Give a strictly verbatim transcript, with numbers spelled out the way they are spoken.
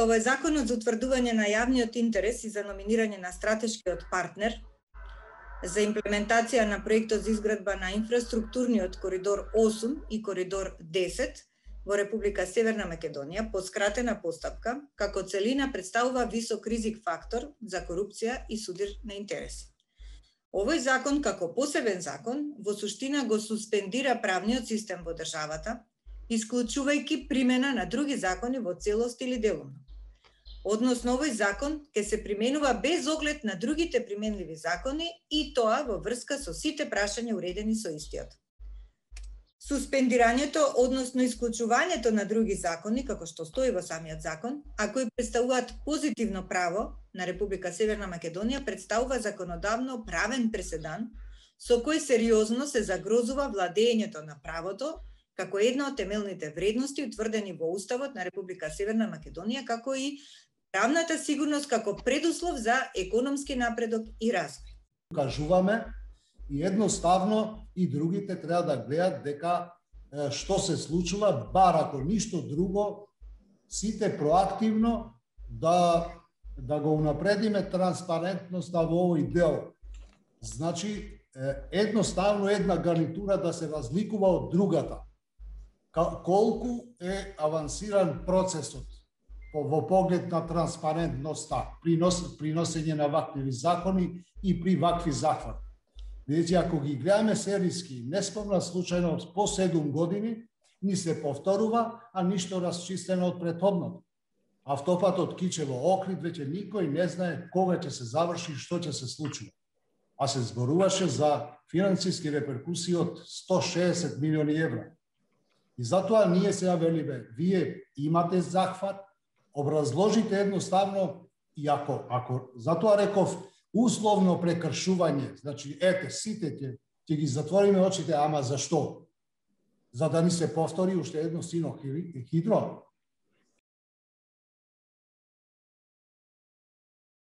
овој законот за утврдување на јавниот интерес и за номинирање на стратешкиот партнер за имплементација на проектот за изградба на инфраструктурниот коридор осум и коридор десет во Република Северна Македонија по скратена постапка, како целина представува висок ризик фактор за корупција и судир на интереси. Овој закон, како посебен закон, во суштина го суспендира правниот систем во државата, исклучувајќи примена на други закони во целост или делумно. Односно, овој закон ќе се применува без оглед на другите применливи закони и тоа во врска со сите прашања уредени со истиот. Суспендирањето, односно исклучувањето на други закони, како што стои во самиот закон, а кои представуваат позитивно право на Република Северна Македонија, представува законодавно правен преседан со кој сериозно се загрозува владењето на правото како една од темелните вредности утврдени во Уставот на Република Северна Македонија, како и правната сигурност како предуслов за економски напредок и развој. Кажуваме и едноставно и другите треба да гледат дека што се случува, бар ако ништо друго, сите проактивно да да го унапредиме транспарентноста во овој дел. Значи, едноставно една гарнитура да се разликува од другата. Колку е авансиран процесот во поглед на транспарентноста, при приносење на вакви закони и при вакви захвати. Бидејќи ако ги гледаме серијски, не спомна случајно по седум години, ни се повторува, а ништо расчистено од претходното. Автопатот Кичево-Охрид веќе никој не знае кога ќе се заврши и што ќе се случи. А се зборуваше за финансиски реперкусии од сто шеесет милиони евра. И затоа ние сега велиме, вие имате захват, образложите едноставно, и ако, ако затоа реков условно прекршување, значи ете, сите ќе, ќе ги затвориме очите, ама зашто? За да ни се повтори уште едно сино хидро?